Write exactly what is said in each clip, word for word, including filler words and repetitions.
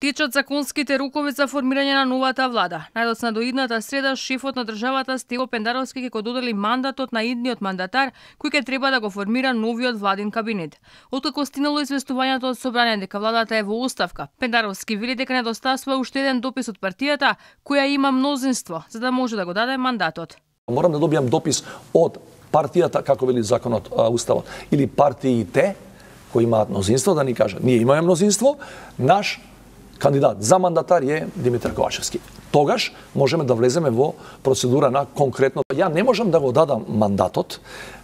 Течат законските рокови за формирање на новата влада. Најдоцна до идната среда, шефот на државата Стево Пендаровски ќе го додели мандатот на идниот мандатар, кој ќе треба да го формира новиот владин кабинет. Откако стигнало известувањето од собрание дека владата е во оставка, Пендаровски вели дека недостасува уште еден допис од партијата, која има мнозинство, за да може да го даде мандатот. Морам да добијам допис од партијата, како вели законот, уставот, или партиите кои имаат мнозинство, да ни кажат, ние имаме мнозинство, наш кандидат за мандатар е Димитар Ковачевски. Тогаш можеме да влеземе во процедура на конкретно. Ја не можам да го дадам мандатот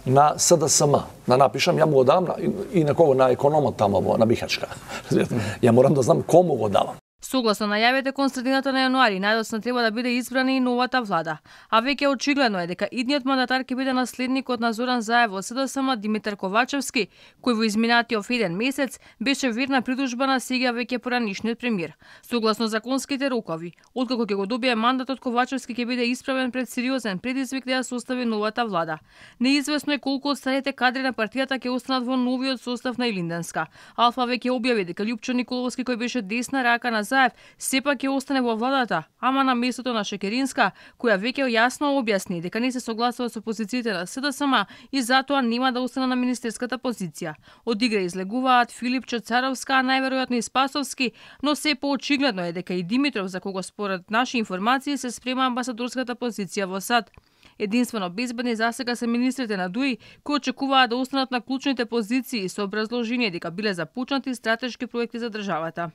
на С Д С М. Да напишам, ја му го дадам и на кого, на економот тамо во на Бихачка. Ја морам да знам кому го давам. Согласно најавите кон средината на јануари, најдоцна треба да биде избрана и новата влада. А веќе очигледно е дека идниот мандатар ќе биде наследникот на Зоран Заев во С Д С М Димитар Ковачевски, кој во изминатиот еден месец беше верна придужба на сега веќе поранишниот премиер. Согласно законските рокови, откако ќе го добие мандатот, Ковачевски ќе биде исправен пред сериозен предизвик да ја состави новата влада. Неизвестно е колку од старите кадри на партијата ќе останат во новиот состав на Илинденска. Алфа веќе објави дека Љупчо Николовски, кој беше десна рака на Заев, сепак ќе остане во владата, ама на местото на Шекеринска, која веќе јасно објасни дека не се согласува со позициите на С Д С М и затоа нема да остане на министерската позиција. Од игра излегуваат Филипчо Царовска, а најверојатно и Спасовски, но се поочигледно е дека и Димитров, за кого според наши информации се спрема амбасадорската позиција во САД. Единствено безбедни засега се министрите на ДУИ, кои очекуваат да останат на клучните позиции со образложение дека биле започнати стратешки проекти за државата.